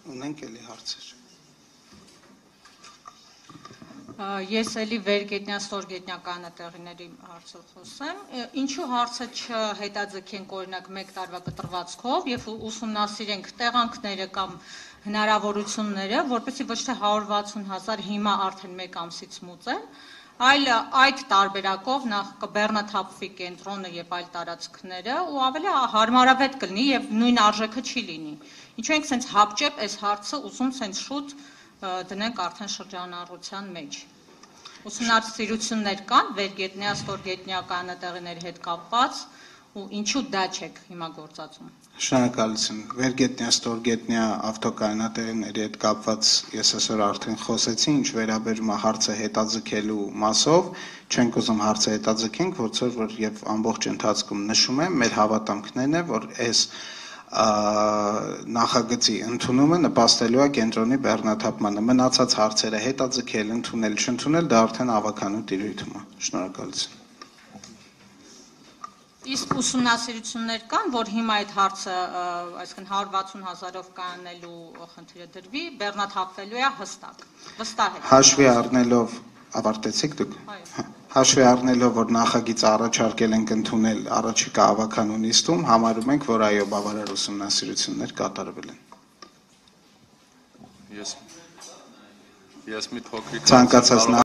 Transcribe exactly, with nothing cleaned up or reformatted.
Ունենք էլի հարցեր։ Ես էլի վերգետնյա, ստորգետնյա կանատեղիների հարցով խոսեմ, ինչու հարցը չհետաձգենք օրինակ մեկ տարվա կտրվածքով և ուսումնասիրենք տեղանքները կամ հնարավորությունները, որպեսզի ոչ թե հարյուր վաթսուն հազար հիմա արդեն մեկ ամսից մուծեն, այլ այդ տարբերակով նախ կբեռնաթափվի կենտրոնը և այլ տարածքները ու ավելի հարմարավետ կլինի և նույն արժեքը չի լինի։ Ինչու ենք սենց հապճեպ այս հարցը ուզում սենց շուտ դնենք արդեն շրջանառության մեջ։ Ուսումնասիրություններ կան վերգետնյա, ստորգետնյա կանատեղիների հետ կապված ու ինչու դա չեք հիմա գործածում։ Շնորհակալություն։ Վերգետնյա, ստորգետնյա ավտոկանատեղիների հետ կապված ես այսօր արդեն խոսեցի, ինչ վերաբերում է հարցը հետաձգելու մասով, չենք ուզում հարցը հետաձգենք, որցոր որ եւ ամբողջ ընթացքում նշում եմ, մեր հավատամքներն է, որ այս նախագծի ընդունումը նպաստելու է կենտրոնի բեռնաթափմանը, մնացած հարցերը հետաձգել, ընդունել, չընդունել, դա արդեն ավականու տիրույթում է։ Շնորհակալություն։ Իսկ ուսումնասիրություններ կան, որ հիմա այդ հարցը, այսինքն հարյուր վաթսուն հազարով կանելու խնդիրը դրվի, բեռնաթափվելու է հստակ։ Վստահ եք։ Հաշվի առնելով, ավարտեցիք դուք։ Հաշվի առնելով, որ նախագիծը առաջարկել ենք ընդունել առաջիկա ավականու նիստում, համարում ենք, որ այո, բավարար ուսումնասիրություններ կատարվել են։ Ես ես մի փոքրիկ ցանկացած